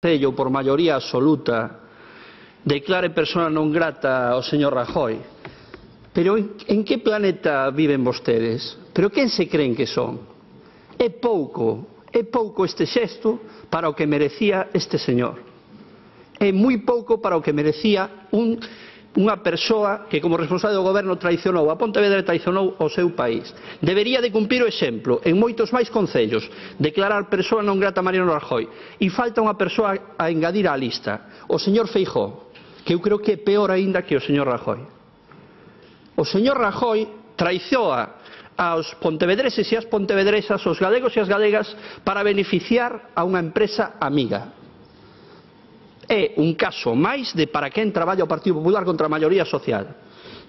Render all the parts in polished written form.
Concello por maioría absoluta declare persona non grata ao señor Rajoy. Pero en que planeta viven vostedes? Pero quen se creen que son? É pouco este xesto para o que merecía este señor. É moi pouco para o que merecía unha persoa que como responsable do goberno traicionou a Pontevedra e traicionou o seu país. Debería de cumprir o exemplo en moitos máis concellos, declarar persoa non grata a Mariano Rajoy. E falta unha persoa a engadir á lista, o señor Feijóo, que eu creo que é peor aínda que o señor Rajoy. O señor Rajoy traizoa aos pontevedreses e as pontevedresas, aos galegos e as galegas, para beneficiar a unha empresa amiga. É un caso máis de para quen traballa o Partido Popular contra a maioría social.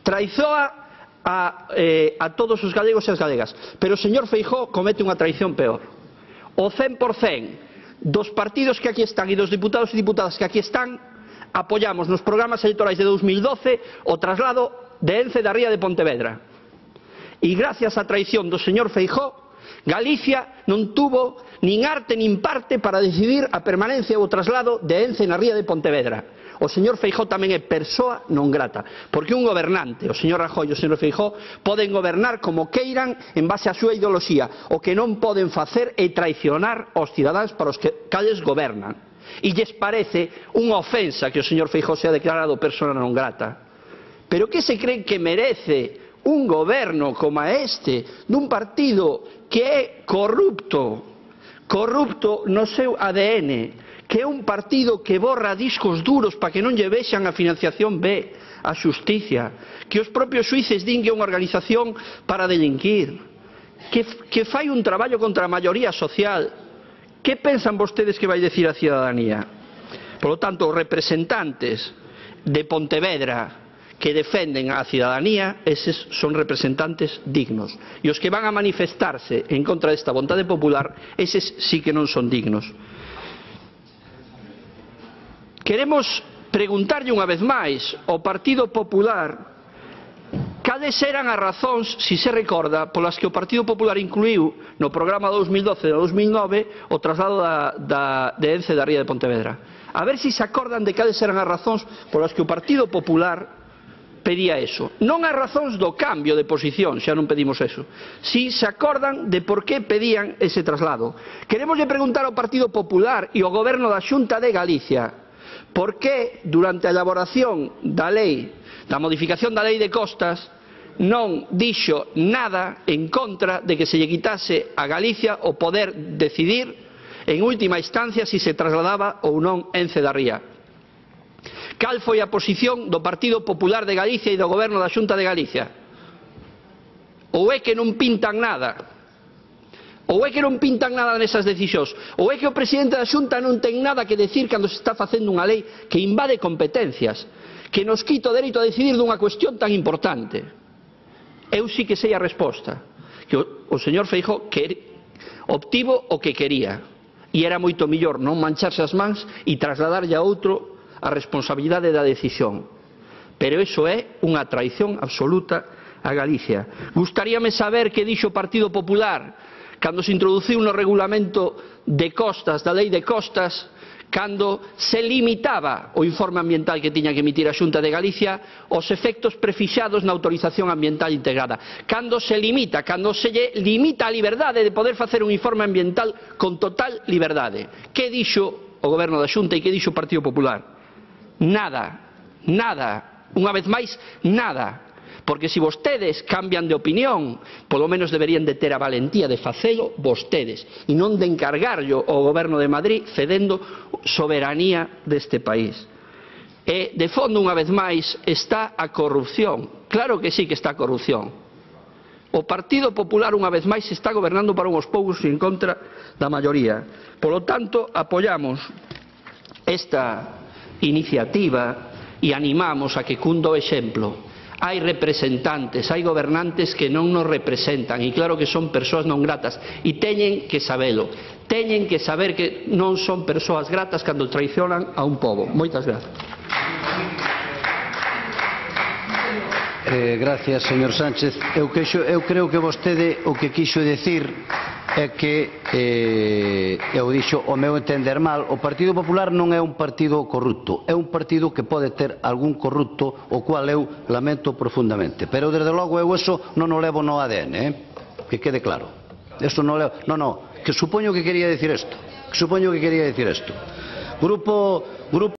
Traizoa a todos os galegos e as galegas, pero o señor Feijóo comete unha traición peor. O 100% dos partidos que aquí están e dos diputados e diputadas que aquí están apoiamos nos programas electorais de 2012 o traslado de Ence da Ría de Pontevedra. E gracias á traición do señor Feijóo, Galicia non tuvo nin arte nin parte para decidir a permanencia ou o traslado de Ence na Ría de Pontevedra. O señor Feijóo tamén é persoa non grata, porque un gobernante, o señor Rajoy e o señor Feijóo, poden gobernar como queiran en base á súa ideoloxía. O que non poden facer é traicionar aos cidadáns para os cales gobernan. E lles parece unha ofensa que o señor Feijóo sea declarado persoa non grata. Pero que se creen que merece un goberno como este, dun partido que é corrupto no seu ADN, que é un partido que borra discos duros para que non lle vexan a financiación B, a xusticia, que os propios xuíces din que é unha organización para delinquir, que fai un traballo contra a maioría social. Que pensan vostedes que vai dicir a cidadanía? Por lo tanto, os representantes de Pontevedra que defenden a cidadanía, eses son representantes dignos. E os que van a manifestarse en contra desta vontade popular, eses sí que non son dignos. Queremos preguntarlle unha vez máis ao Partido Popular cales eran as razóns, se se recorda, polas que o Partido Popular incluiu no programa 2012 e 2009 o traslado de Ence da Ría de Pontevedra. A ver se se acordan de cales eran as razóns polas que o Partido Popular pedía eso. Non as razóns do cambio de posición, xa non pedimos eso. Si se acordan de por que pedían ese traslado. Queremoslle preguntar ao Partido Popular e ao Goberno da Xunta de Galicia por que durante a elaboración da lei, da modificación da lei de costas, non dixo nada en contra de que se lle quitase a Galicia o poder decidir en última instancia se se trasladaba ou non Ence da Ría. Cal foi a posición do Partido Popular de Galicia e do Goberno da Xunta de Galicia? Ou é que non pintan nada? Ou é que non pintan nada nesas decisións? Ou é que o presidente da Xunta non ten nada que decir cando se está facendo unha lei que invade competencias, que nos quita o dereito a decidir dunha cuestión tan importante? Eu sí que sei a resposta, que o señor Feijóo obtivo o que quería, e era moito mellor non mancharse as mans e trasladarlle a outro a responsabilidade da decisión. Pero iso é unha traición absoluta a Galicia. Gustaríame saber que dixo o Partido Popular cando se introduciu no regulamento de costas, da lei de costas, cando se limitaba o informe ambiental que tiña que emitir a Xunta de Galicia aos efectos prefixados na autorización ambiental integrada. Cando se limita a liberdade de poder facer un informe ambiental con total liberdade. Que dixo o Goberno da Xunta e que dixo o Partido Popular? Nada, unha vez máis, nada. Porque se vostedes cambian de opinión, polo menos deberían de ter a valentía de facelo vostedes e non de encargarlo ao Goberno de Madrid cedendo soberanía deste país. E, de fondo, unha vez máis, está a corrupción. Claro que sí que está a corrupción. O Partido Popular, unha vez máis, está gobernando para unhos poucos en contra da maioría. Polo tanto, apoiamos esta iniciativa e animamos a que cunda o exemplo. Hai representantes, hai gobernantes que non nos representan e claro que son persoas non gratas e teñen que sabelo. Teñen que saber que non son persoas gratas cando traicionan a un pobo. Moitas grazas. Gracias, señor Sánchez. Eu creo que vostede o que quixo decir é que eu dixo o meu entender mal, o Partido Popular non é un partido corrupto, é un partido que pode ter algún corrupto, o cual eu lamento profundamente, pero desde logo eu eso non o levo no ADN, que quede claro, eso non levo, que supoño que quería decir isto, Grupo